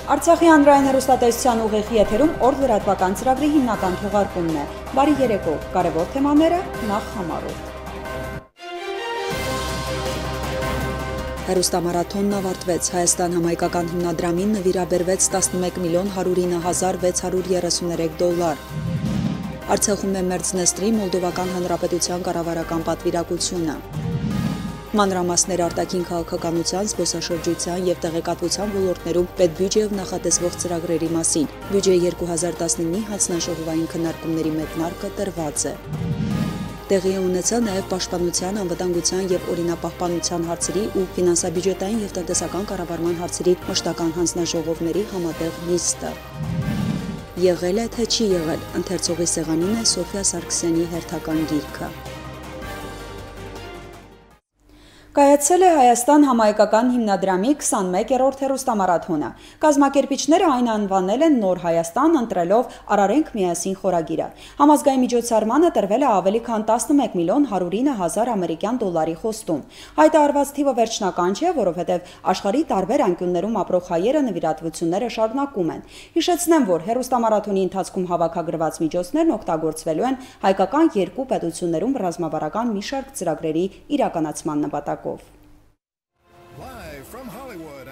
Արցախի հանրային հեռուստատեսության ուղիղ եթերում օր լրատվական ծրագրի հիմնական թողարկումն է։ Բարի երեկո, կարևոր թեմաները նախ համառոտ։ Հեռուստամարաթոնն ավարտվեց, Հայաստան համայնքական հիմնադրամին նվիրաբերվեց 11.109.633 դոլար։ Արցախում է Մերձնեստրի Մոլդովական Հանրապետության կառավարական պատվիրակությունը։ Մանրամասներ արտաքին քաղաքականության, զբոսաշրջության եւ տեղեկատվության ոլորտներում պետբյուջեով նախատեսվող ծրագրերի մասին։ Բյուջեի 2019-ի հանձնաժողովային քննարկումների մեկնարկը տրված է։ Տեղի ունեցավ նաև պաշտպանության, անվտանգության եւ օրինապահպանության հարցերի ու ֆինանսաբյուջետային եւ տնտեսական կառավարման հարցերի մշտական հանձնաժողովների համատեղ նիստը։ Եղել է, թե չի եղել, ընթերցողի սեղանին է Սոֆիա Սարգսյանի հերթական գիրքը։ Կայացել է Հայաստան համայնքական հիմնադրամի 21-րդ հեռուստամարաթոնը։ Կազմակերպիչները այն անվանել են Նոր Հայաստան, ընտրելով Արարենք միասին խորագիրը։ Համազգային միջոցառմանը տրվել է ավելի քան 11.109.000 ամերիկյան դոլարի խոստում։ Հայտարարված թիվը վերջնական չէ, որովհետև աշխարհի տարբեր անկյուններում ապրող հայերը նվիրատվությունները շարունակում են։ Հիշեցնեմ, որ հեռուստամարաթոնի ընթացքում հավաքագրված միջոցներն օգտագործվելու են հայկական երկու պետություններում ռազմավարական մի շարք ծրագրերի իրականացման նպատակով։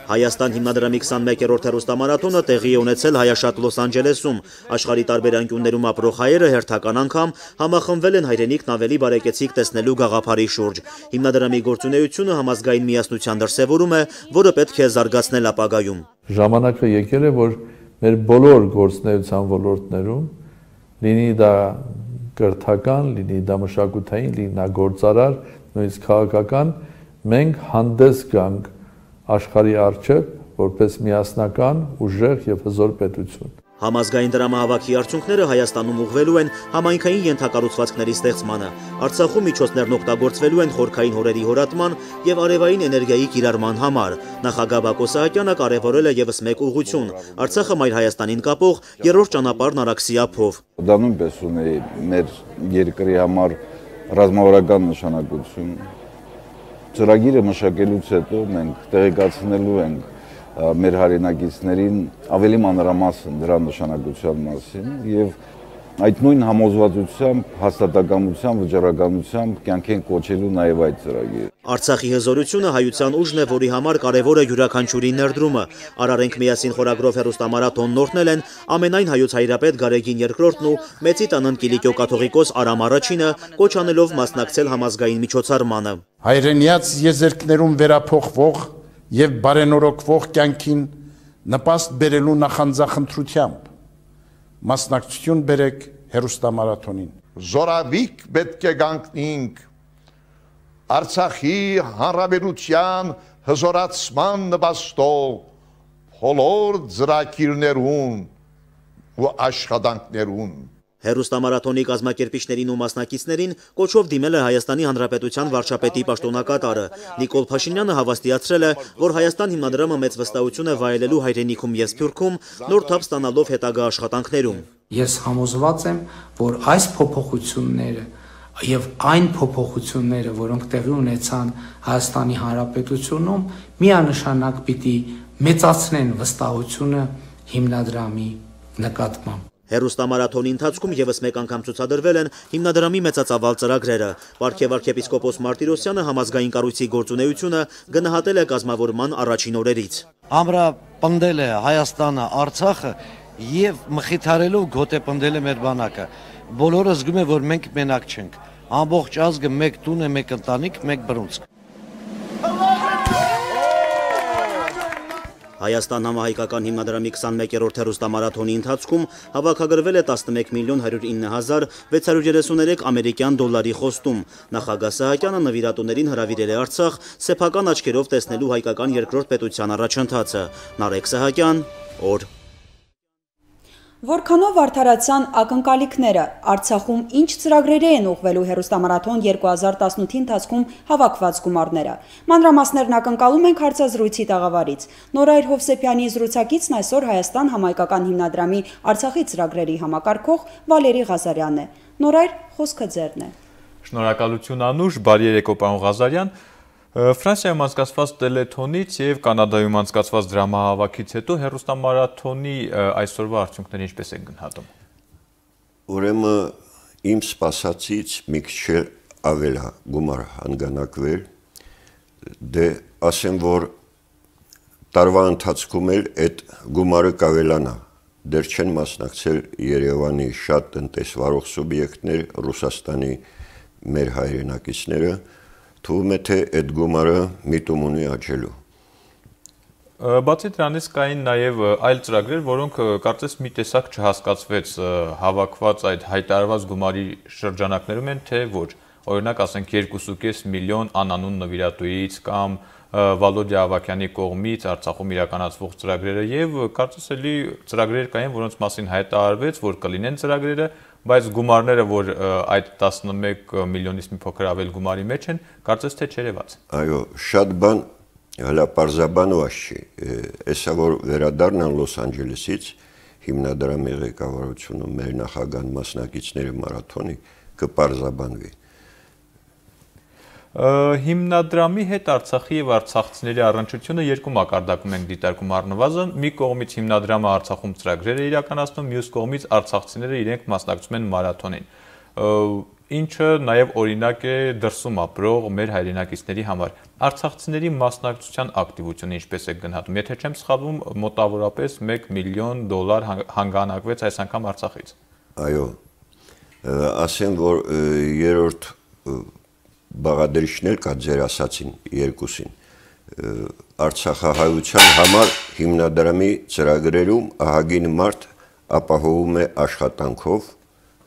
Հայաստան հիմնադրամի 21-րդ հեռուստամարաթոնը տեղի է ունեցել հայաշատ Լոս Անջելեսում։ Աշխարհի տարբեր անկյուններում ապրող հայերը հերթական անգամ համախմբվել են հայրենիքն ավելի բարեկեցիկ տեսնելու գաղափարի շուրջ։ Հիմնադրամի գործունեությունը համազգային միասնության դրսևորում է, որը պետք է զարգացնել ապագայում։ Ժամանակը եկել է, որ մեր բոլոր գործունեության ոլորտներում, լինի դա կրթական, լինի դա մշակութային, լինի դա գործարար, նույնիսկ քաղաքական, մենք հանդես գանք աշխարհի առջև որպես միասնական, ուժեղ եւ հզոր պետություն։ Համազգային դրամահավաքի արդյունքները Հայաստանում ուղղվելու են համայնքային ենթակառուցվածքների ստեղծմանը։ Արցախում միջոցներն օգտագործվելու են խորքային հորերի հորատման եւ արևային էներգիայի կիրառման համար։ Նախագահ Բակո Սահակյանը կարևորել է եւս մեկ ուղղություն՝ Արցախը Մայր Հայաստանին կապող երրորդ ճանապարհն Արաքսի ափով։ Դա նույնպես ունի մեր երկրի համար ռազմավարական նշանակություն։ Ծրագիրը մշակելուց հետո մենք տեղեկացնելու ենք մեր հայրենակիցներին ավելի մանրամասն դրա նշանակության մասին եւ այդ նույն համոզվածությամբ, հաստատակամությամբ, վճռականությամբ կյանք են կոչելու նաև այդ ծրագիրը։ Արցախի հզորությունը հայության ուժն է, որի համար կարևոր է յուրաքանչյուրի ներդրումը։ Արարենք միասին խորագրով հեռուստամարաթոնն օրհնել են ամենայն հայոց հայրապետ Գարեգին II-ն ու Մեծի տանն Կիլիկիո կաթողիկոս Արամ I-ը, կոչ անելով մասնակցել համազգային միջոցառմանը։ Հայրենիաց եզերքներում վերափոխվող եւ բարենորոգվող կյանքին նպաստ բերելու նախանձախնդրությամբ մասնակցություն բերեք հեռուստամարաթոնին։ Զորավիկ պետք է գանքնենք Արցախի հանրապետության հզորացման նպաստող բոլոր ծրագիրներուն ու աշխատանքներուն։ Հեռուստամարաթոնի կազմակերպիչներին ու մասնակիցներին կոչով դիմել է Հայաստանի Հանրապետության վարչապետի պաշտոնակատարը։ Նիկոլ Փաշինյանը հավաստիացրել է, որ Հայաստան հիմնադրամը մեծ վստահություն է վայելելու հայրենիքում եւ Սփյուռքում նոր թափ ստանալով հետագա աշխատանքներում։ Ես համոզված եմ, որ այս փոփոխությունները եւ այն փոփոխությունները, որոնք տեղի ունեցան Հայաստանի Հանրապետությունում, միանշանակ պիտի մեծացնեն վստահությունը հիմնադրամի նկատմամբ։ Հեռուստամարաթոնի ընթացքում եւս մեկ անգամ ցուցադրվել են հիմնադրամի մեծածավալ ծրագրերը։ Պարքև arczepiskopos Մարտիրոսյանը համազգային կառույցի գործունեությունը գնահատել է կազմավորման առաջին օրերից։ Ամրապնդել է Հայաստանը, Արցախը եւ մխիթարելով գոտեպնդել է մեր բանակը։ Բոլորը զգում են, որ մենք մենակ չենք։ Ամբողջ ազգը մեկ տուն է, մեկ ընտանիք, մեկ բռունցք։ Հայաստան համահայկական հիմնադրամի 21-րդ հեռուստամարաթոնի ընթացքում հավաքագրվել է 11.109.633 ամերիկյան դոլարի խոստում։ Նախագահ Սահակյանը նվիրատուներին հրավիրել է Արցախ սեփական աչքերով տեսնելու հայկական երկրորդ պետության առաջընթացը։ Նարեկ Սահակյան, օր։ Որքանով արդարացան ակնկալիքները, Արցախում ինչ ծրագրերի են ուղղվելու հեռուստամարաթոն 2018-ի ընթացքում հավաքված գումարները։ Մանրամասներն ակնկալում ենք հարցազրույցի տաղավարից։ Նորայր Հովսեփյանի զրուցակիցն այսօր Հայաստան համայնքական հիմնադրամի Արցախի ծրագրերի համակարգող Վալերի Ղազարյանն է։ Նորայր, խոսքը ձերն է։ Շնորհակալություն Անուշ, բարի երեկո պարոն Ղազարյան։ Ֆրանսիայում անցկացված տելեթոնից եւ Կանադայում անցկացված դրամահավաքից հետո հեռուստամարաթոնի այսօրվա արդյունքները ինչպես են գնահատում։ Ուրեմն իմ սպասածից մի քիչ ավել է գումար հանգանակվել, դե ասեմ, որ տարվա ընթացքում էլ այդ գումարը կավելանա, դեռ չեն մասնակցել Երևանի շատ տնտեսվարող սուբյեկտներ, Ռուսաստանի մեր հայրենակիցները, թվում է թե այդ գումարը միտում ունի աճելու։ Բացի դրանից կային նաև այլ ծրագրեր, որոնք կարծես մի տեսակ չհասկացվեց հավաքված այդ հայտարարված գումարի շրջանակներում են, թե ոչ։ Օրինակ, ասենք 2.5 միլիոն անանուն նվիրատուից կամ Վալոդիա Ավակյանի կողմից Արցախում իրականացվող ծրագրերը եւ կարծես էլի ծրագրեր կային, որոնց մասին հայտարարվեց, որ կլինեն ծրագրերը, բայց գումարները, որ այդ 11 միլիոնից մի փոքր ավել գումարի մեջ են, կարծես թե չերևաց։ Այո, շատ բան հələ պարզաբանված չի։ Էսա որ վերադառնան Լոս Անջելեսից հիմնադրամի ղեկավարությունը մեր նախագահ մասնակիցները մարաթոնի կպարզաբանվի։ Հիմնադրամի հետ Արցախի եւ արցախցիների առնչությունը երկու մակարդակում են դիտարկում առնվազն, մի կողմից հիմնադրամը Արցախում ծրագրեր է իրականացնում, մյուս կողմից արցախցիները իրենք մասնակցում են մարաթոնին, ինչը նաեւ օրինակ է դրսում ապրող մեր հայրենակիցների համար։ Արցախցիների մասնակցության ակտիվությունը ինչպես է գնահատում, եթե չեմ սխալվում, մոտավորապես $1 միլիոն հանգանակվեց այս անգամ Արցախից։ Այո, ասեմ, որ երրորդ բաղադրիչն էլ կա ձեր ասացին երկուսին, Արցախահայության համար հիմնադրամի ծրագրերում ահագին մարդ ապահովում է աշխատանքով,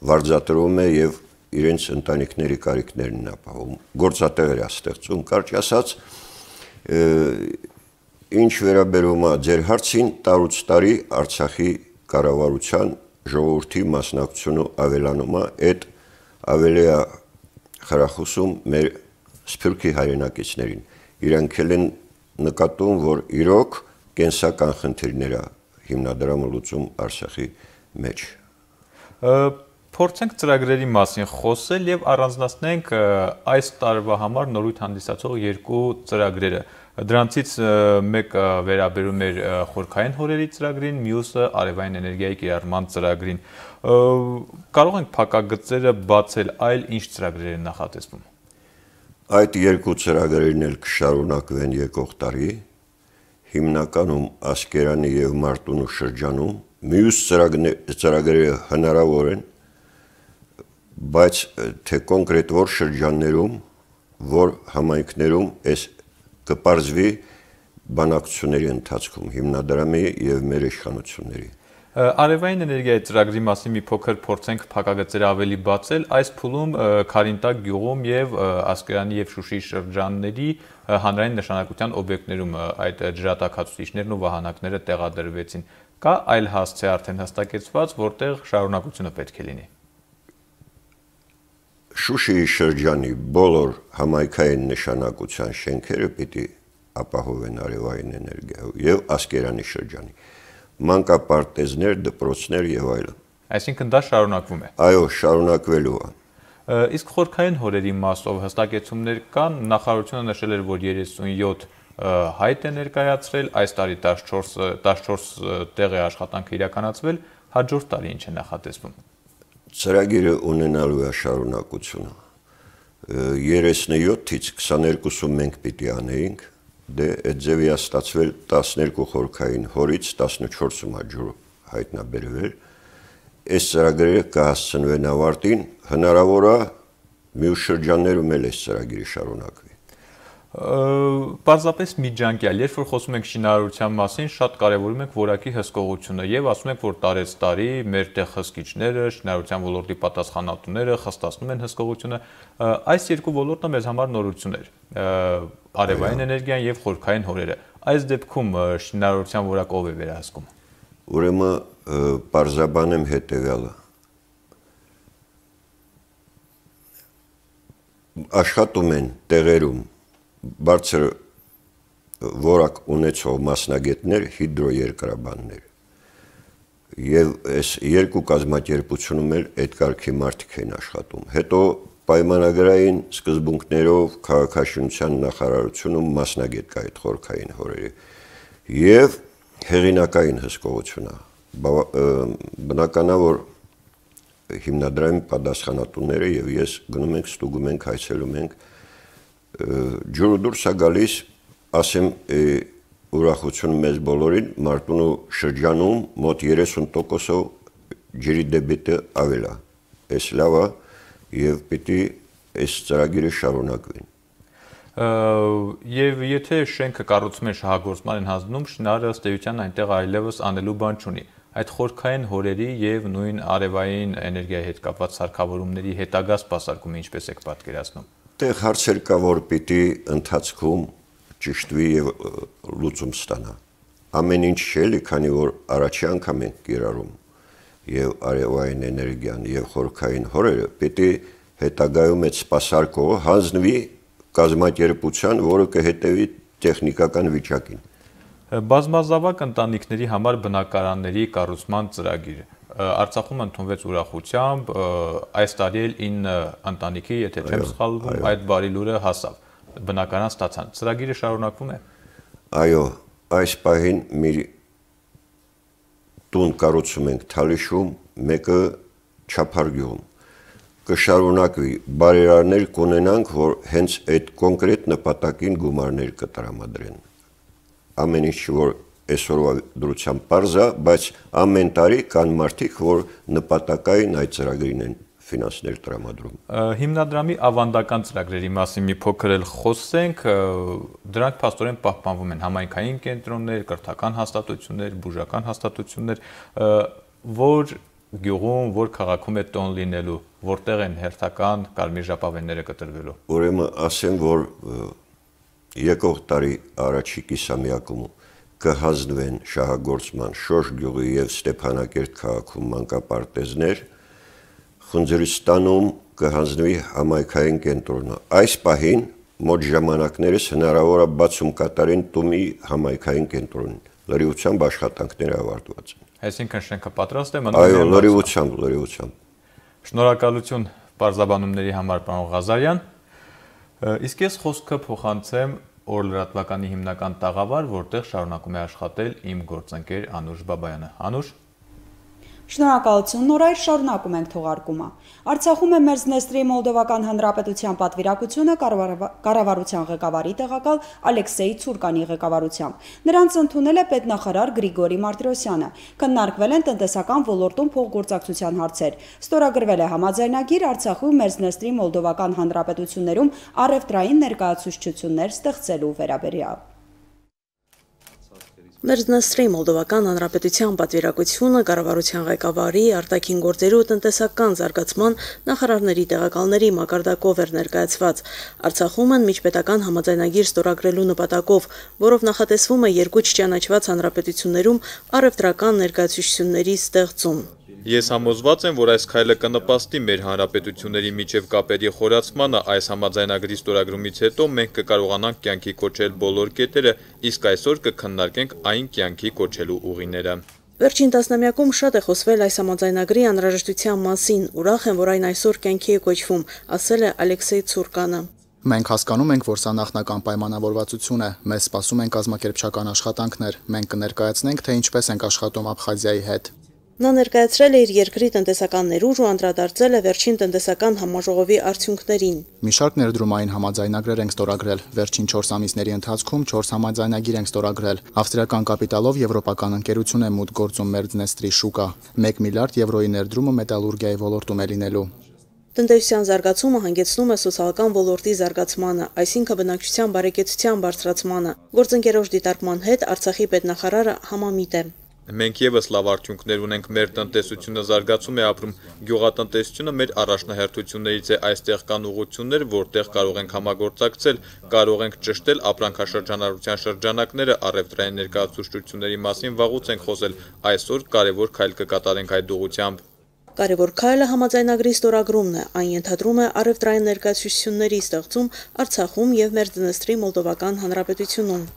վարձատրում է եւ իրենց ընտանիքների կարիքներն ապահովում, գործատեղեր է ստեղծում, կարճ ասած, ինչ վերաբերում է ձեր հարցին, տարուց տարի Արցախի կառավարության ժողովրդի մասնակցությունը ավելանում է, այդ ավելի է խրախուսում մեր սփյուռքի հայրենակիցներին, իրանք են նկատում, որ իրոք կենսական խնդիրները հիմնադրամը լուծում Արցախի մեջ։ Փորձենք ծրագրերի մասին խոսել եւ առանձնացնենք այս տարվա համար նորույթ հանդիսացող երկու ծրագրերը։ Դրանցից մեկը վերաբերում էր խորքային հորերի ծրագրին, մյուսը արևային էներգիայի կիրառման ծրագրին։ Կարող ենք փակագծերը բացել, այլ ինչ ծրագրեր են նախատեսվում։ Այդ երկու ծրագրերն էլ կշարունակվեն եկող տարի, հիմնականում Ասկերանի եւ Մարտունու շրջանում, մյուս ծրագրերը հնարավոր են, բայց թե կոնկրետ որ շրջաններում, որ համայնքներում այս կպարզվի բանակցությունների ընթացքում հիմնադրամի եւ մեր իշխանությունների։ Արևային էներգիայի ծրագրի մասին մի փոքր փորձենք փակագծերը ավելի բացել, այս փուլում Քարինտակ գյուղում եւ Ասկերանի եւ Շուշիի շրջանների հանրային նշանակության օբյեկտներում այդ ջրատաքացուցիչներն ու վահանակները տեղադրվեցին։ Կա այլ հասցե արդեն հստակեցված, որտեղ շարունակությունը պետք է լինի։ Շուշիի շրջանի բոլոր համայնքային նշանակության շենքերը պիտի ապահովեն արևային էներգիայով եւ Ասկերանի շրջանի մանկապարտեզներ, դպրոցներ եւ այլն։ Այսինքն դա շարունակվում է։ Այո, շարունակվելու է։ Իսկ խորքային հորերի մասով հստակեցումներ կան, նախարարությունը նշել էր, որ 37 հայտ է ներկայացրել, այս տարի 14 տեղ է աշխատանքը իրականացվել, հաջորդ տարի ինչ է նախատեսվում։ Ծրագիրը ունենալու է շարունակությունը։ 37-ից 22-ում մենք պիտի անեինք, դե այդ ձևի է ստացվել 12 խորքային հորից 14-ում աջուր հայտնաբերվել։ Այս ծրագրերը կհասցնվեն ավարտին, հնարավոր է մյուս շրջաններում էլ այս ծրագիրը շարունակվի։ Պարզապես միջանկյալ, երբ որ խոսում ենք շինարարության մասին, շատ կարևորում ենք որակի հսկողությունը եւ ասում ենք, որ տարեց տարի մեր տեղ հսկիչները, շինարարության ոլորտի պատասխանատուները խստացնում են հսկողությունը։ Այս երկու ոլորտը մեզ համար նորություն էր։ Արևային էներգիան եւ խորքային հորերը։ Այս դեպքում շինարարության որակը ով է վերահսկում։ Ուրեմն պարզաբանեմ հետեւյալը։ Աշխատում են տեղերում բարձր որակ ունեցող մասնագետներ, հիդրոերկրաբաններ եւ այս երկու կազմակերպությունում էլ այդ կարգի մարդիկ են աշխատում։ Հետո պայմանագրային սկզբունքներով քաղաքաշինության նախարարությունում մասնագետ կա այդ խորքային հորերի եւ հեղինակային հսկողություն է։ Բնականա որ հիմնադրամի պատասխանատուները եւ ես գնում ենք, ստուգում ենք, այցելում ենք, ջուրը դուրս է գալիս, ասեմ ուրախություն մեզ բոլորին, Մարտունու շրջանում մոտ 30%-ով ջրի դեբիտը ավել է։ Այս լավ է եւ պիտի այս ծրագիրը շարունակվի։ Եվ եթե շենքը կառուցում են շահագործման են հանձնում, շինարարը ըստ էության այնտեղ այլևս անելու բան չունի։ Այդ խորքային հորերի եւ նույն արևային էներգիայի հետ կապված սարքավորումների հետագա սպասարկումը ինչպես եք պատկերացնում։ Այդտեղ հարցեր կա, որ պիտի ընթացքում ճշտվի եւ լուծում ստանա։ Ամեն ինչ չէ, քանի որ առաջի անգամ ենք կիրառում եւ արևային էներգիան եւ խորքային հորերը, պիտի հետագայում այդ սպասարկողը հանձնվի կազմակերպության, որը կհետևի տեխնիկական վիճակին։ Բազմազավակ ընտանիքների համար բնակարանների կառուցման ծրագիր Արցախում ընդունվեց ուրախությամբ, այս տարի էլ 9 ընտանիքի, եթե չեմ սխալվում, այդ բարի լուրը հասավ, բնակարան ստացան։ Ծրագիրը շարունակվում է։ Այո, այս պահին մի տուն կառուցում ենք Թալիշում, մեկը Չափարգյուղում։ Կշարունակվի, բարերարներ կունենանք, որ հենց այդ կոնկրետ նպատակին գումարներ կտրամադրեն։ Ամեն ինչ, որ այսօրվա դրությամբ պարզ է, բայց ամեն տարի կան մարդիկ, որ նպատակային այդ ծրագրին են ֆինանսներ տրամադրում։ Հիմնադրամի ավանդական ծրագրերի մասին մի փոքր էլ խոսենք, դրանք փաստորեն պահպանվում են համայնքային կենտրոններ, կրթական հաստատություններ, բուժական հաստատություններ, որ գյուղում, որ քաղաքում է տոն լինելու, որտեղ են հերթական կարմիր ժապավենները կտրվելու։ Ուրեմն ասեմ, որ եկող տարի առաջի կիսամյակում կհանձնվեն շահագործման Շոշ գյուղի եւ Ստեփանակերտ քաղաքում մանկապարտեզներ, Խնձորիստանում կհանձնվի համայնքային կենտրոնը։ Այս պահին մոտ ժամանակներս հնարավոր է բացում կատարեն Տումի համայնքային կենտրոնին։ Լրիվությամբ աշխատանքները ավարտված են։ Այսինքն շենքը պատրաստ է, այո, լրիվությամբ։ Շնորհակալություն բարձրաբանումների համար, պարոն Ղազարյան։ Իսկ ես խոսքը փոխանցեմ օր լրատվականի հիմնական տաղավար, որտեղ շարունակում է աշխատել իմ գործընկեր Անուշ Բաբայանը։ Անուշ։ Շնորհակալություն, Նորայր, շարունակում ենք թողարկումը։ Արցախում է Մերձնեստրի Մոլդովական Հանրապետության պատվիրակությունը կառավարության ղեկավարի տեղակալ Ալեքսեյ Ցուրկանի ղեկավարությամբ։ Նրանց ընդունել է պետնախարար Գրիգորի Մարտիրոսյանը։ Քննարկվել են տնտեսական ոլորտում փոխգործակցության հարցեր։ Ստորագրվել է համաձայնագիր Արցախում Մերձնեստրի Մոլդովական Հանրապետություններում առևտրային ներկայացուցչություններ ստեղծելու վերաբերյալ։ Մերձնեստրի Մոլդովական Հանրապետության պատվիրակությունը կառավարության ղեկավարի, արտաքին գործերու ու տնտեսական զարգացման նախարարների տեղակալների մակարդակով էր ներկայացված։ Արցախում են միջպետական համաձայնագիր ստորագրելու նպատակով, որով նախատեսվում է երկու չճանաչված հանրապետություններում առևտրական ներկայացուցչությունների ստեղծում։ Ես համոզված եմ, որ այս քայլը կնպաստի մեր հանրապետությունների միջև կապերի խորացմանը, այս համաձայնագրի ստորագրումից հետո մենք կկարողանանք կյանքի կոչել բոլոր կետերը, իսկ այսօր կքննարկենք այն կյանքի կոչելու ուղիները։ Վերջին տասնամյակում շատ է խոսվել այս համաձայնագրի անհրաժեշտության մասին, ուրախ եմ, որ այն այսօր կյանքի է կոչվում, ասել է Ալեքսեյ Ցուրկանը։ Մենք հասկանում ենք, որ սա նախնական պայմանավորվածություն է, մեզ սպասում են կազմակերպչական աշխատանքներ, մենք կներկայացնենք, թե ինչպես ենք աշխատում Աբխազիայի հետ։ Նա ներկայացրել է իր երկրի տնտեսական ներուժ ու անդրադարձել է վերջին տնտեսական համաժողովի արդյունքներին։ Մի շարք ներդրումային համաձայնագրեր ենք ստորագրել։ Վերջին 4 ամիսների ընթացքում 4 համաձայնագիր ենք ստորագրել։ Ավստրիական կապիտալով եվրոպական ընկերություն է մուտք գործում Մերձնեստրի շուկա։ 1 միլիարդ եվրոյի ներդրումը մետալուրգիայի ոլորտում է լինելու։ Տնտեսության զարգացումը հանգեցնում է սոցիալական ոլորտի զարգացմանը, այսինքն բնակչության բարեկեցության բարձրացմանը։ Գործընկերոջ դիտարկման հետ Արցախի պետնախարարը համամիտ է։ Մենք եւս լավ արդյունքներ ունենք, մեր տնտեսությունը զարգացում է ապրում, գյուղատնտեսությունը մեր առաջնահերթություններից է, այստեղ կան ուղղություններ, որտեղ կարող ենք համագործակցել, կարող ենք ճշտել ապրանքաշրջանառության շրջանակները, առևտրային ներկայացուցչությունների մասին վաղուց ենք խոսել, այսօր կարևոր քայլ կկատարենք այդ ուղղությամբ։ Կարևոր քայլը համաձայնագրի ստորագրումն է, այն ենթադրում է առևտրային ներկայացուցչությունների ստեղծում Արցախում եւ Մերձնեստրի Մոլդովական Հանրապետությունում։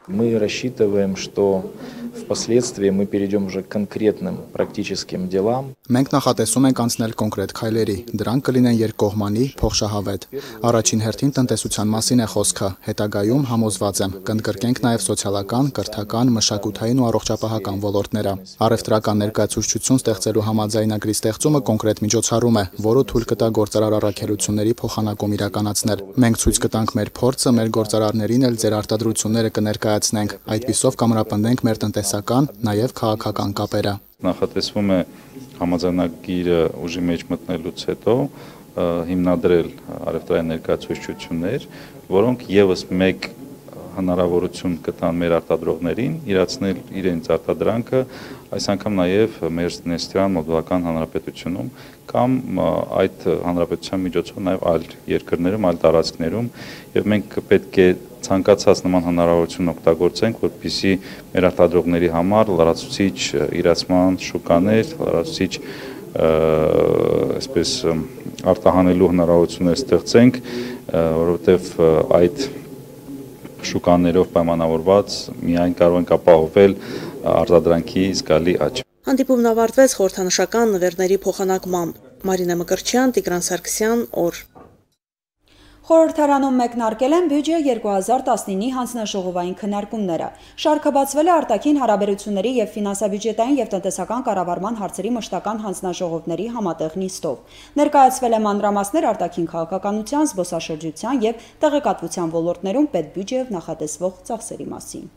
Мы рассчитываем, что впоследствии мы перейдем уже к конкретным практическим делам. Մենք նախատեսում ենք անցնել կոնկրետ քայլերի, դրանք կլինեն երկկողմանի, փոխշահավետ։ Առաջին հերթին տնտեսության մասին է խոսքը, հետագայում համոզված եմ, կընդգրկենք նաև սոցիալական, կրթական, մշակութային ու առողջապահական ոլորտները։ Առևտրական ներկայացուցչություն ստեղծելու համաձայնագրի ստեղծումը կոնկրետ միջոցառում է, որը թույլ կտա գործարար առաքելությունների փոխանակում իրականացնել։ Մենք ցույց կտանք մեր փորձը, մեր գործարարներին էլ ձեր արտադրությունները կներկայացնենք, այդպիսով կամրապնդենք մեր տնտեսական, նաև քաղաքական կապերը։ Նախատեսվում է համաձայնագիրը ուժի մեջ մտնելուց հետո հիմնադրել առևտրային ներկայացուցչություններ, որոնք եւս մեկ հնարավորություն կտան մեր արտադրողներին իրացնել իրենց արտադրանքը, այս անգամ նաև մեր Դնեստրյան Մոլդովական Հանրապետությունում կամ այդ հանրապետության միջոցով նաև այլ երկրներում, այլ տարածքներում, եւ մենք պետք է ցանկացած նման հնարավորություն օգտագործենք, որպեսզի մեր արտադրողների համար լրացուցիչ իրացման շուկաներ, լրացուցիչ այսպես արտահանելու հնարավորություններ ստեղծենք, որովհետև այդ շուկաներով պայմանավորված միայն կարող ենք ապահովել արտադրանքի զգալի աճ։ Հանդիպումն ավարտվեց խորհրդանշական նվերների փոխանակմամբ։ Մարինա Մկրտչյան, Տիգրան Սարգսյան, օր։ Խորհրդարանում մեկնարկել են բյուջե 2019-ի հանձնաժողովային քննարկումները։ Շարքը բացվել է արտաքին հարաբերությունների եւ ֆինանսաբյուջետային եւ տնտեսական կառավարման հարցերի մշտական հանձնաժողովների համատեղ նիստով։ Ներկայացվել է մանրամասներ արտաքին քաղաքականության, զբոսաշրջության եւ տեղեկատվության ոլորտներում պետբյուջեով նախատեսվող ծախսերի մասին։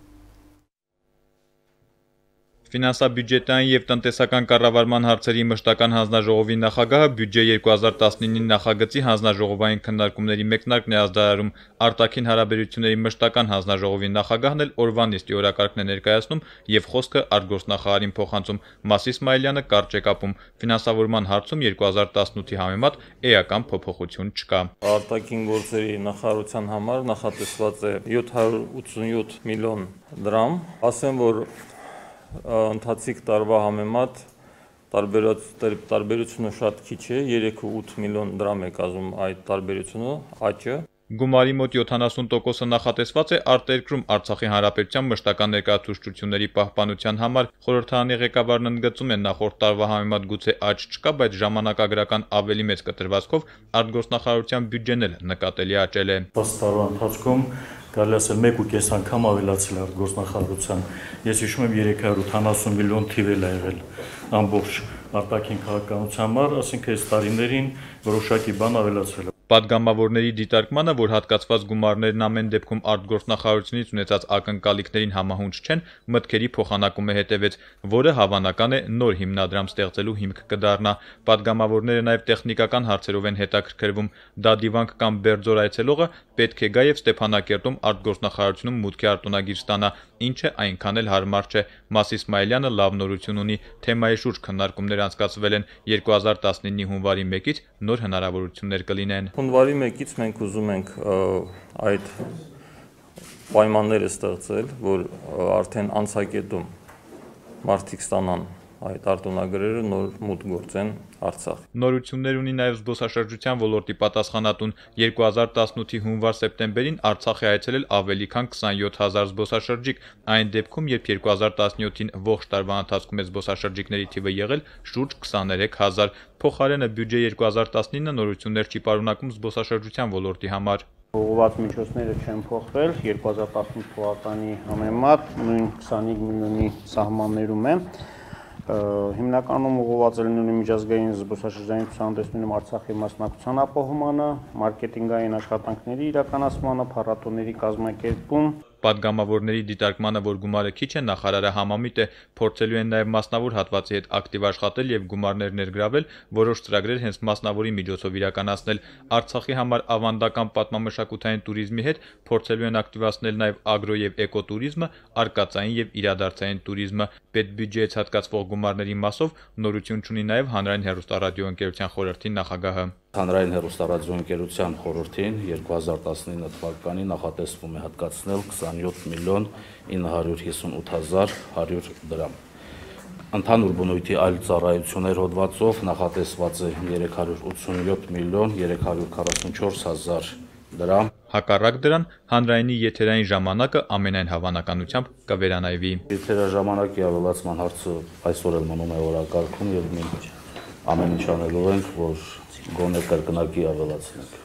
Ֆինանսաբյուջետային եւ տնտեսական կառավարման հարցերի մշտական հանձնաժողովի նախագահը բյուջե 2019-ի նախագծի հանձնաժողովային քննարկումների մեկնարկն է ազդարարում։ Արտաքին հարաբերությունների մշտական հանձնաժողովի նախագահն էլ օրվա նիստի օրակարգն է ներկայացնում եւ խոսքը արտգործնախարարին փոխանցում։ Մաս Իսմայելյանը կարճ է կապում։ Ֆինանսավորման հարցում 2018-ի համեմատ էական փոփոխություն չկա։ Արտաքին գործերի նախարարության համար նախատեսված է 787 միլիոն դրամ, ասեմ որ ընթացիկ տարվա համեմատ տարբերությունը շատ քիչ է, 3.8 միլիոն դրամ է կազմում այդ տարբերությունը, աճը։ Գումարի մոտ 70%-ը նախատեսված է արտերկրում Արցախի հանրապետության մշտական ներկայացուցչությունների պահպանության համար։ Խորհրդարանի ղեկավարն ընդգծում է նախորդ տարվա համեմատ գուցե աճ չկա, բայց ժամանակագրական ավելի մեծ կտրվածքով արտգործնախարարության բյուջեն էլ նկատելի աճել է։ 10 տարվա ընթացքում կարելի ասել 1.5 անգամ ավելացել է արտգործնախարարության։ Ես հիշում եմ 380 միլիոն թիվ էլ ա եղել ամբողջ արտաքին քաղաքականության համար, ասենք այս տարիներին որոշակի բան ավելացել է։ Պատգամավորների դիտարկմանը, որ հատկացված գումարներն ամեն դեպքում արտգործնախարարությունից ունեցած ակնկալիքներին համահունչ չեն, մտքերի փոխանակում է հետևեց, որը հավանական է նոր հիմնադրամ ստեղծելու հիմք կդառնա։ Պատգամավորները նաև տեխնիկական հարցերով են հետաքրքրվում։ Դադիվանք կամ Բերձոր այցելողը պետք է գա եւ Ստեփանակերտում արտգործնախարարությունում մուտքի արտոնագիր ստանա, ինչը այնքան էլ հարմար չէ։ Մաս Իսմայելյանը լավ նորություն ունի, թեմայի շուրջ քննարկումներ անցկացվել են 2019-ի հունվարի 1-ից նոր հնարավորություններ կլինեն։ Հունվարի 1-ից մենք ուզում ենք այդ պայմանները ստեղծել, որ արդեն անցակետում մարդիկ ստանան այդ արտոնագրերը նոր մուտք գործեն Արցախ։ Նորություններ ունի նաև զբոսաշրջության ոլորտի պատասխանատուն 2018-ի հունվար-սեպտեմբերին Արցախ է այցելել ավելի քան 27000 զբոսաշրջիկ, այն դեպքում, երբ 2017-ին ողջ տարվա ընթացքում է զբոսաշրջիկների թիվը եղել շուրջ 23000, փոխարենը բյուջե 2019-ը նորություններ չի պարունակում զբոսաշրջության ոլորտի համար։ Ուղղված միջոցները չեն փոխվել 2018 թվականի համեմատ նույն 25 միլիոնի սահմաններում է։ Հիմնականում ուղղված է լինում միջազգային զբոսաշրջային ցուցահանդեսներում Արցախի մասնակցության ապահովմանը, մարքեթինգային աշխատանքների իրականացմանը, փառատոների կազմակերպում։ Պատգամավորների դիտարկմանը, որ գումարը քիչ է, նախարարը համամիտ է, փորձելու են նաև մասնավոր հատվածի հետ ակտիվ աշխատել եւ գումարներ ներգրավել, որոշ ծրագրեր հենց մասնավորի միջոցով իրականացնել։ Արցախի համար ավանդական պատմամշակութային туриզմի հետ փորձելու են ակտիվացնել նաև ագրո եւ էկոտուրիզմը, արկածային եւ իրադարձային туриզմը։ Պետբյուջեից հատկացվող գումարների մասով նորություն ունի նաև հանրային հեռուստառադիոընկերության խորհրդի նախագահը։ Հանրային հեռուստառադիոընկերության խորհրդին 2019 թվականին նախատեսվում է հատկացնել 27 միլիոն 958 հազար 100 դրամ։ Ընդհանուր բնույթի այլ ծառայություններ հոդվածով նախատեսված է 387 միլիոն 344 հազար դրամ։ Հակառակ դրան, հանրայինի եթերային ժամանակը ամենայն հավանականությամբ կվերանայվի։ Եթերաժամանակի ավելացման հարցը այսօր էլ մնում է օրակարգում եւ մենք ամեն ինչ անելու ենք, որ գոնե կրկնակի ավելացնենք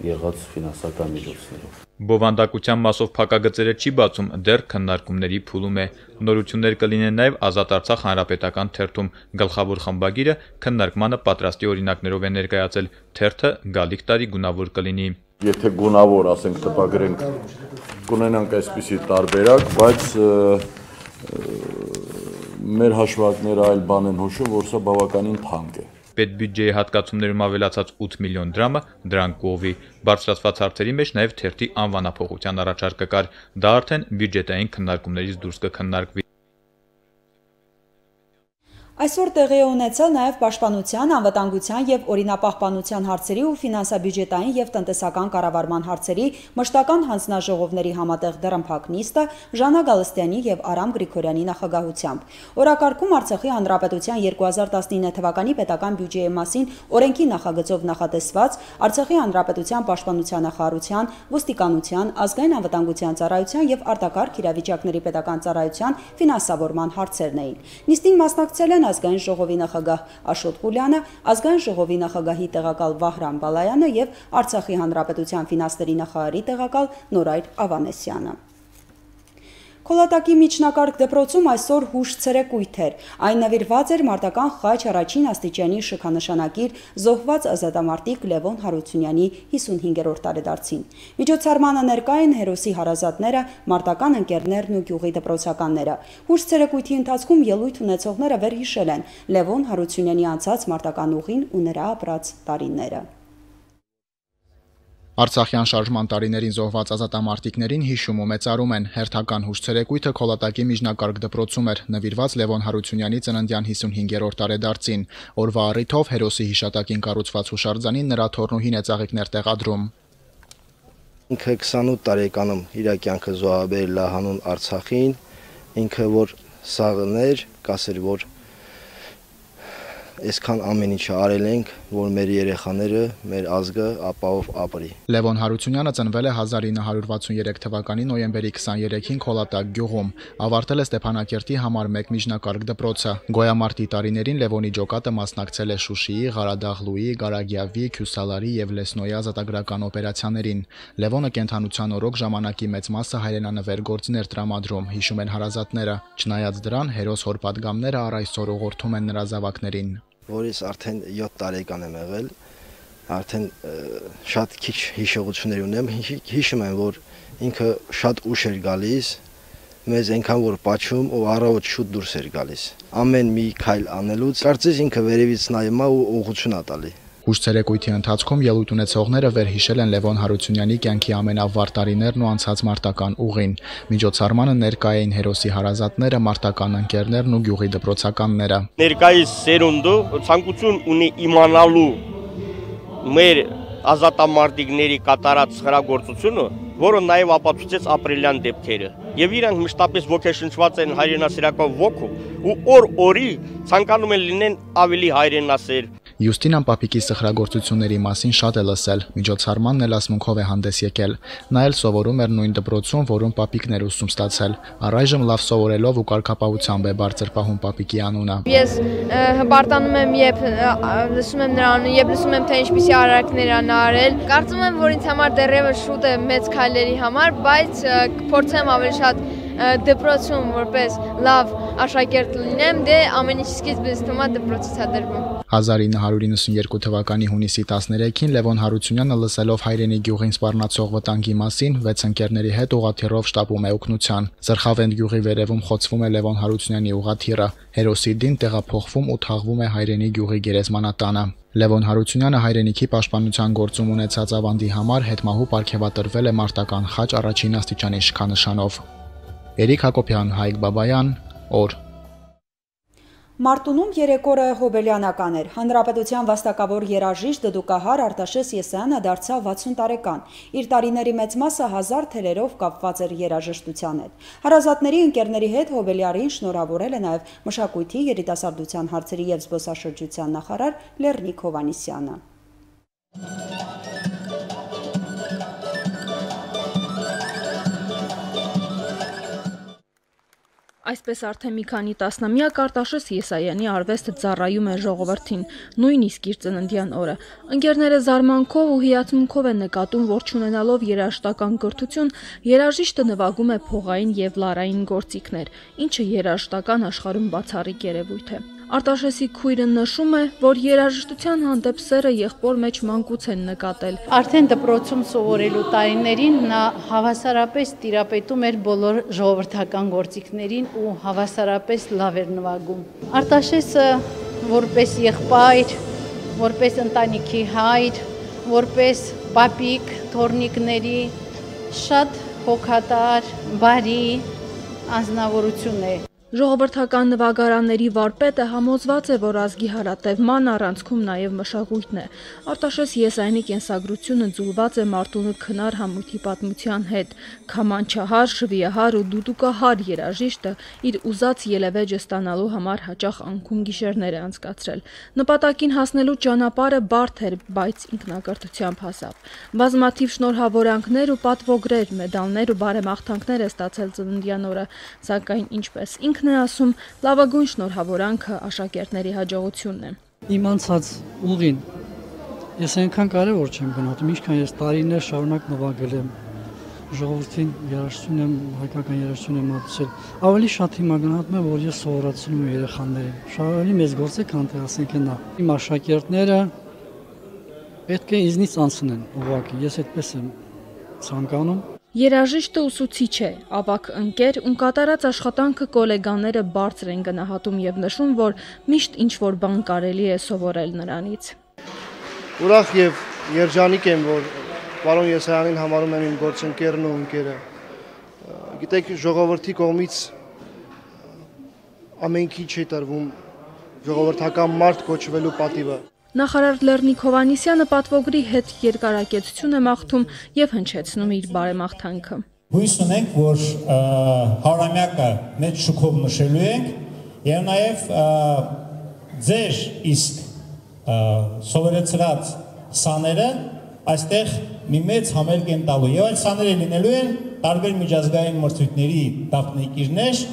եղած ֆինանսական միջոցներով։ Բովանդակության մասով փակագծերը չի բացում, դեռ քննարկումների փուլում է։ Նորություններ կլինեն նաև Ազատ Արցախ հանրապետական թերթում։ Գլխավոր խմբագիրը քննարկմանը պատրաստի օրինակներով է ներկայացել, թերթը գալիք տարի գունավոր կլինի։ Եթե գունավոր, ասենք, տպագրենք, կունենանք այսպիսի տարբերակ, բայց մեր հաշվարկները այլ բան են հուշում, որ սա բավականին թանկ է։ Պետբյուջեի հատկացումներում ավելացած 8 միլիոն դրամը դրան կողվի։ Բարձրացված հարցերի մեջ նաև թերթի անվանափոխության առաջարկը կար։ Դա արդեն բյուջետային քննարկումներից դուրս կքննարկվի։ Այսօր տեղի է ունեցել նաև պաշտպանության, անվտանգության և օրինապահպանության հարցերի ու ֆինանսաբյուջետային և տնտեսական կառավարման հարցերի մշտական հանձնաժողովների համատեղ դռնփակ նիստը Ժանա Գալստյանի և Արամ Գրիգորյանի նախագահությամբ։ Օրակարգում Արցախի Հանրապետության 2019 թվականի պետական բյուջեի մասին օրենքի նախագծով նախատեսված Արցախի Հանրապետության պաշտպանության նախարարության, ոստիկանության, ազգային անվտանգության ծառայության և արտակարգ իրավիճակների պետական ծառայության ֆինանսավորման հարցերն էին։ Նիստին մասնակցել են Ազգային ժողովի նախագահ Աշոտ Ղուլյանը, Ազգային ժողովի նախագահի տեղակալ Վահրամ Բալայանը և Արցախի Հանրապետության ֆինանսների նախարարի տեղակալ Նորայր Ավանեսյանը։ Քոլատակի միջնակարգ դպրոցում այսօր հուշ ցերեկույթ էր։ Այն նվիրված էր մարտական խաչ առաջին աստիճանի շքանշանակիր զոհված ազատամարտիկ Լևոն Հարությունյանի 55-րդ տարեդարձին։ Միջոցառմանը ներկա են հերոսի հարազատները, մարտական ընկերներն ու գյուղի դպրոցականները։ Հուշ ցերեկույթի ընթացքում ելույթ ունեցողները վերհիշել են Լևոն Հարությունյանի անցած մարտական ուղին ու նրա ապրած տարիները։ Արցախյան շարժման տարիներին զոհված ազատամարտիկներին հիշում ու մեծարում են։ Հերթական հուշ ցերեկույթը Քոլատակի միջնակարգ դպրոցում էր, նվիրված Լևոն Հարությունյանի ծննդյան 55-րդ տարեդարձին։ Օրվա առիթով հերոսի հիշատակին կառուցված հուշարձանին նրա թոռնուհին է ծաղիկներ տեղադրում։ Ինքը 28 տարեկանում իր կյանքը զոհաբերել է հանուն Արցախին, ինքը որ սաղներ, կասեր որ այսքան ամեն ինչը արել ենք, որ մեր երեխաները, մեր ազգը ապահով ապրի։ Լևոն Հարությունյանը ծնվել է 1963 թվականի նոյեմբերի 23-ին Քոլատակ գյուղում։ Ավարտել է Ստեփանակերտի համար 1 միջնակարգ դպրոցը։ Գոյամարտի տարիներին Լևոնի ջոկատը մասնակցել է Շուշիի, Ղարադաղլուի, Գարագյավի, Քյուսալարի եւ Լեսնոյի ազատագրական օպերացիաներին։ Լևոնը կենթանության օրոք ժամանակի մեծ մասը հայրենանվեր գործներ տրամադրում, հիշում են հարազատները։ Չնայած դրան, հերոս հոր պատգամները առ այսօր ուղղորդում են նրա զավակներին։ Որից արդեն 7 տարեկան եմ եղել, արդեն շատ քիչ հիշողություններ ունեմ, հիշում եմ, որ ինքը շատ ուշ էր գալիս, մեզ այնքան որ պաչում ու առավոտ շուտ դուրս էր գալիս։ Ամեն մի քայլ անելուց, կարծես ինքը վերևից նայում է ու ուղղություն է տալի։ Հուշ ցերեկույթի ընթացքում ելույթ ունեցողները վերհիշել են Լևոն Հարությունյանի կյանքի ամենավառ տարիներն ու անցած մարտական ուղին։ Միջոցառմանը ներկա էին հերոսի հարազատները, մարտական ընկերներն ու գյուղի դպրոցականները։ Ներկայիս սերունդը ցանկություն ունի իմանալու մեր ազատամարտիկների կատարած խրագործությունը, որը նաև ապացուցեց ապրիլյան դեպքերը։ Եվ իրանք մշտապես ոգեշնչված են հայրենասիրական ոգով ու օր-օրի ցանկանում են լինեն ավելի հայրենասեր։ Յուստինան պապիկի սխրագործությունների մասին շատ է լսել, միջոցառմանն էլ ասմունքով է հանդես եկել։ Նա էլ սովորում էր նույն դպրոցում, որում պապիկն էր ուսում ստացել։ Առայժմ լավ սովորելով ու կարգապահությամբ է բարձր պահում պապիկի անունը։ Ես հպարտանում եմ, երբ լսում եմ նրա անունը, երբ լսում եմ, թե ինչպիսի արարքներ ան արել։ Կարծում եմ, որ ինձ համար դեռևս շուտ է մեծ քայլերի համար, բայց փորձեմ ավելի շատ դպրոցում որպես լավ աշակերտ լինեմ, դե ամեն ինչ սկիզբից թվում է դպրոցից է դրվում։ 1992 թվականի հունիսի 13-ին Լևոն Հարությունյանը լսելով հայրենի գյուղին սպառնացող վտանգի մասին 6 ընկերների հետ ուղղաթիռով շտապում է օգնության։ Զրխավենդ գյուղի վերևում խոցվում է Լևոն Հարությունյանի ուղղաթիռը։ Հերոսի դին տեղափոխվում ու թաղվում է հայրենի գյուղի գերեզմանատանը։ Լևոն Հարությունյանը հայրենիքի պաշտպանության գործում ունեցած ավանդի համար հետմահու պարգևատրվել է մարտական խաչ առաջին աստիճանի շքանշանով։ Էրիկ Հակոբյան, Հայկ Բաբայան, օր։ Մարտունում երեկորը հոբելյանական էր։ Հանրապետության վաստակավոր երաժիշտ դդուկահար Արտաշես Եսայանը դարձավ 60 տարեկան։ Իր տարիների մեծ մասը հազար թելերով կապված էր երաժշտության հետ։ Հարազատների ընկերների հետ հոբելյարին շնորհավորել է նաև մշակույթի, երիտասարդության հարցերի և զբոսաշրջության նախարար Լեռնիկ Հովհաննիսյանը։ Այսպես արդեն մի քանի տասնամյակ Արտաշես Եսայանի արվեստը ծառայում է ժողովրդին, նույնիսկ իր ծննդյան օրը։ Ընկերները զարմանքով ու հիացմունքով են նկատում, որ չունենալով երաժշտական կրթություն, երաժիշտը նվագում է փողային եւ լարային գործիքներ, ինչը երաժշտական աշխարհում բացառիկ երևույթ է։ Արտաշեսի քույրը նշում է, որ երաժշտության հանդեպ սերը եղբոր մեջ մանկուց են նկատել։ Արդեն դպրոցում սովորելու տարիներին նա հավասարապես տիրապետում էր բոլոր ժողովրդական գործիքներին ու հավասարապես լավ էր նվագում։ Արտաշեսը որպես եղբայր, որպես ընտանիքի հայր, որպես պապիկ թորնիկների շատ հոգատար, բարի անձնավորություն է։ Ժողովրդական նվագարանների վարպետը համոզված է, որ ազգի հարատևման առանցքում նաև մշակույթն է։ Արտաշես Եսայանի կենսագրությունը ձուլված է Մարտունու քնար համույթի պատմության հետ։ Քամանչահար, շվիահար ու դուդուկահար երաժիշտը իր ուզած ելևեջը ստանալու համար հաճախ անքուն գիշերներ է անցկացրել։ Նպատակին հասնելու ճանապարհը բարդ էր, բայց ինքնակրթությամբ հասավ։ Բազմաթիվ շնորհավորանքներ ու պատվոգրեր, մեդալներ ու բարեմաղթանքներ է ստացել ծննդյան օրը, սակայն ինչպես ինքն է ասում, լավագույն շնորհավորանքը աշակերտների հաջողությունն է։ Իմ անցած ուղին ես այնքան կարևոր չեմ գնահատում, ինչքան ես տարիներ շարունակ նվագել եմ, ժողովրդին երաժշտություն եմ, հայկական երաժշտություն եմ մատուցել։ Ավելի շատ հիմա գնահատում եմ, որ ես սովորացնում եմ երեխաներին։ Շարունակ մեծ գործ է, քան թե ասենք նա։ Իմ աշակերտները պետք է ինձնից անցնեն, ուղղակի ես այդպես եմ ցանկանում։ Երաժիշտը ուսուցիչ է, ավագ ընկեր ու կատարած աշխատանքը գոլեգաները բարձր են գնահատում եւ նշում, որ միշտ ինչ-որ բան կարելի է սովորել նրանից։ Ուրախ եւ երջանիկ եմ, որ պարոն Եսայանին համարում եմ իմ գործընկերն ու ընկերը։ Գիտեք, ժողովրդի կողմից ամենքի չի տրվում ժողովրդական մարդ կոչվելու պատիվը։ Նախարար Լեռնիկ Հովհաննիսյանը պատվոգրի հետ երկարակեցություն է մաղթում եւ հնչեցնում իր բարեմաղթանքը։ Հույս ունենք, որ հարամյակը մեծ շուքով նշելու ենք եւ նաեւ ձեր իսկ սովորեցրած սաները այստեղ մի մեծ համերգ են տալու եւ այդ սաները լինելու են տարբեր միջազգային մրցույթների դափնեկիրներ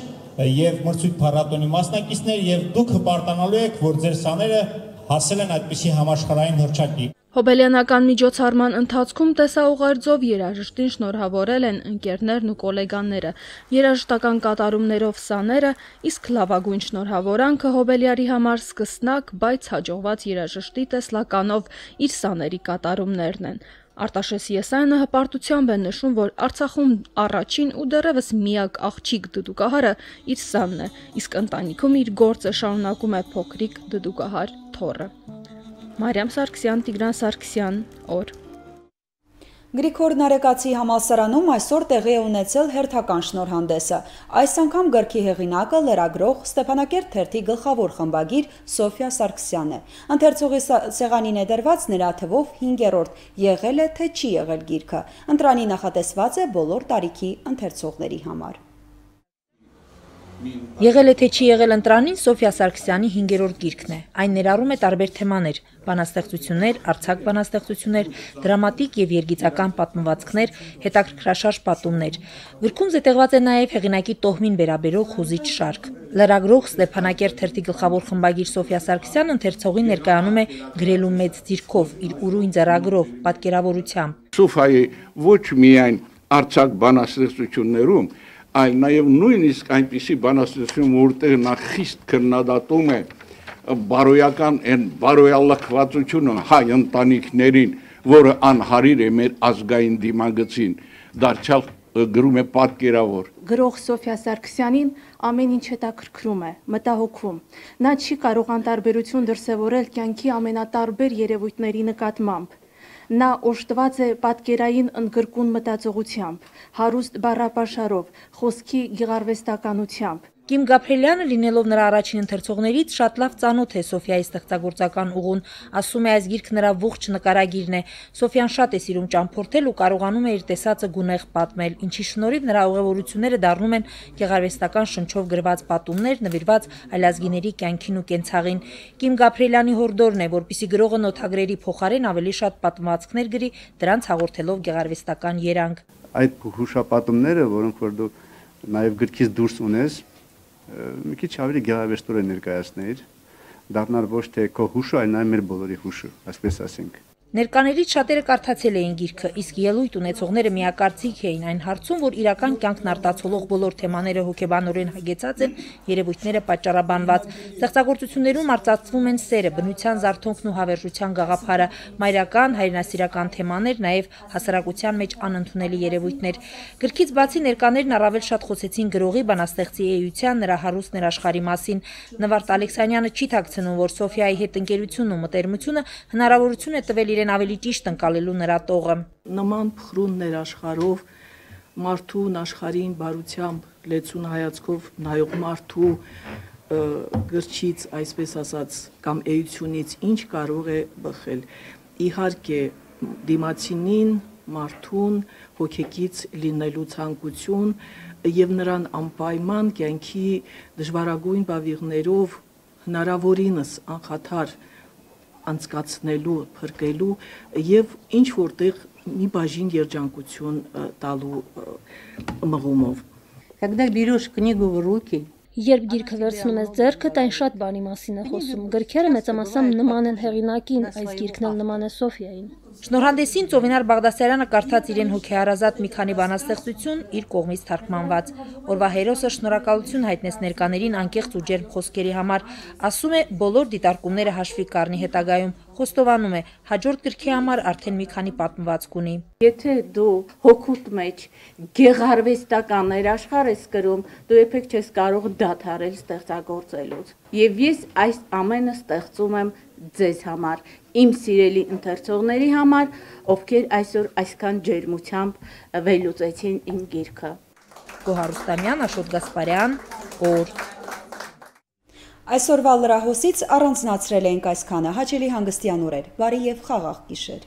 եւ մրցույթ փառատոնի մասնակիցներ եւ դուք հպարտանալու եք, որ ձեր սաները հասել են այդպիսի համաշխարհային հռչակի։ Հոբելյանական միջոցառման ընթացքում տեսաուղերձով երաժշտին շնորհավորել են ընկերներն ու գոլեգաները, երաժշտական կատարումներով սաները, իսկ լավագույն շնորհավորանքը Հոբելյարի համար սկսնակ, բայց հաջողված երաժշտի տեսլականով իր սաների կատարումներն են։ Արտաշես Եսայանը հպարտությամբ է նշում, որ Արցախում առաջին ու դեռևս միակ աղջիկ դդուկահարը իր սանն է, իսկ ընտանիքում իր գործը շարունակում է փոքրիկ դդուկահար թոռը։ Մարիամ Սարգսյան, Տիգրան Սարգսյան, օր։ Գրիգոր Նարեկացի համալսարանում այսօր տեղի է ունեցել հերթական շնորհանդեսը։ Այս անգամ գրքի հեղինակը լրագրող Ստեփանակերտ թերթի գլխավոր խմբագիր Սոֆիա Սարգսյանն է։ Ընթերցողի սեղանին է դրված նրա թվով 5-րդ, եղել է թե չի եղել գիրքը։ Ընտրանի նախատեսված է բոլոր տարիքի ընթերցողների համար։ Եղել է թե չի եղել ընտրանին Սոֆիա Սարգսյանի 5-րդ գիրքն է։ Այն ներառում է տարբեր թեմաներ՝ բանաստեղծություններ, արձակ բանաստեղծություններ, դրամատիկ եւ երգիծական պատմվածքներ, հետաքրքրաշարժ պատումներ։ Գրքում զետեղված է նաեւ հեղինակի տոհմին վերաբերող խոզիչ շարք։ Լրագրող Ստեփանակերտ թերթի գլխավոր խմբագիր Սոֆիա Սարգսյանը ընթերցողին ներկայանում է գրելու մեծ ձիրքով, իր ուրույն ձեռագրով, պատկերավորությամբ։ Սոֆիայի ոչ միայն արձակ բանաստեղծություններում այլ նաև նույնիսկ այնպիսի բանաստեղծություն, որտեղ նա խիստ քննադատում է բարոյական այն բարոյալքվածությունը հայ ընտանիքներին, որը անհարիր է մեր ազգային դիմագծին, դարձյալ գրում է պատկերավոր։ Գրող Սոֆիա Սարգսյանին ամեն ինչ հետաքրքրում է, մտահոգում։ Նա չի կարող անտարբերություն դրսևորել կյանքի ամենատարբեր երևույթների նկատմամբ։ Նա օժտված է պատկերային ընդգրկուն մտածողությամբ, հարուստ բառապաշարով, խոսքի գեղարվեստականությամբ։ Կիմ Գաբրիելյանը լինելով նրա առաջին ընթերցողներից շատ լավ ծանոթ է Սոֆիայի ստեղծագործական ուղուն, ասում է այս գիրքը նրա ողջ նկարագիրն է։ Սոֆիան շատ է սիրում ճամփորդել ու կարողանում է իր տեսածը գունեղ պատմել, ինչի շնորհիվ նրա ուղևորությունները դառնում են գեղարվեստական շնչով գրված պատումներ, նվիրված այլազգիների կյանքին ու կենցաղին։ Կիմ Գաբրիելյանի հորդորն է, որպեսզի գրողը նոթագրերի փոխարեն ավելի շատ պատմվածքներ գրի, դրանց հաղորդելով գեղարվեստական երանգ։ Այդ հուշապատումները, որոնք որ դու նաև գրքից դուրս ունես, մի քիչ ավելի գեղարվեստորեն ներկայացներ, դառնալ ոչ թե քո հուշը, այլ նաև մեր բոլորի հուշը, այսպես ասենք։ Ներկաներից շատերը կարդացել էին գիրքը, իսկ ելույթ ունեցողները միակարծիք էին այն հարցում, որ իրական կյանքն արտացոլող բոլոր թեմաները հոգեբանորեն հագեցած են, երևույթները պատճառաբանված։ Ստեղծագործություններում արծարծվում են սերը, բնության զարթոնքն ու հավերժության գաղափարը, մայրական, հայրենասիրական թեմաներ, նաև հասարակության մեջ անընդունելի երևույթներ։ Գրքից բացի ներկաներն առավել շատ խոսեցին գրողի, բանաստեղծի էության, նրա հարուստ ներաշխարհի մասին։ Նվարդ Ալեքսանյանը չի թաքցնում, որ Սոֆիայի հետ ընկերությունն ու մտերմությունը հնարավորություն է տվել իրեն ավելի ճիշտ ընկալելու նրա տողը։ Նման փխրուն ներաշխարհով մարդուն աշխարհին բարությամբ լեցուն հայացքով նայող մարդու գրչից, այսպես ասած, կամ էությունից ինչ կարող է բխել։ Իհարկե դիմացինին, մարդուն հոգեկից լինելու ցանկություն եւ նրան անպայման կյանքի դժվարագույն բավիղներով հնարավորինս անխաթար անցկացնելու, փրկելու եւ ինչ որտեղ մի բաժին երջանկություն տալու մղումով։ Когда берешь книгу в руки, Երբ գիրքը վերցնում ես ձեռքդ, այն շատ բանի մասին է խոսում։ Գրքերը մեծամասամբ նման են հեղինակին, այս գիրքն էլ նման է Սոֆիային։ Շնորհանդեսին Ծովինար Բաղդասարյանը կարդաց իրեն հոգեհարազատ մի քանի բանաստեղծություն իր կողմից թարգմանված։ Օրվա հերոսը շնորհակալություն հայտնեց ներկաներին անկեղծ ու ջերմ խոսքերի համար, ասում է բոլոր դիտարկումները հաշվի կառնի հետագայում, խոստովանում է հաջորդ գրքի համար արդեն մի քանի պատմվածք ունի։ Եթե դու հոգուտ մեջ գեղարվեստական ներաշխարհ ես գրում, դու երբեք չես կարող դադարել ստեղծագործելուց։ Եվ ես այս ամենը ստեղծում եմ ձեզ համար, իմ սիրելի ընթերցողների համար, ովքեր այսօր այսքան ջերմությամբ վերլուծեցին իմ գիրքը։ Գոհար Ռուստամյան, Աշոտ Գասպարյան, օր։ Այսօրվա լրահոսից առանձնացրել ենք այսքանը, հաճելի հանգստյան օրեր, բարի եւ խաղաղ գիշեր։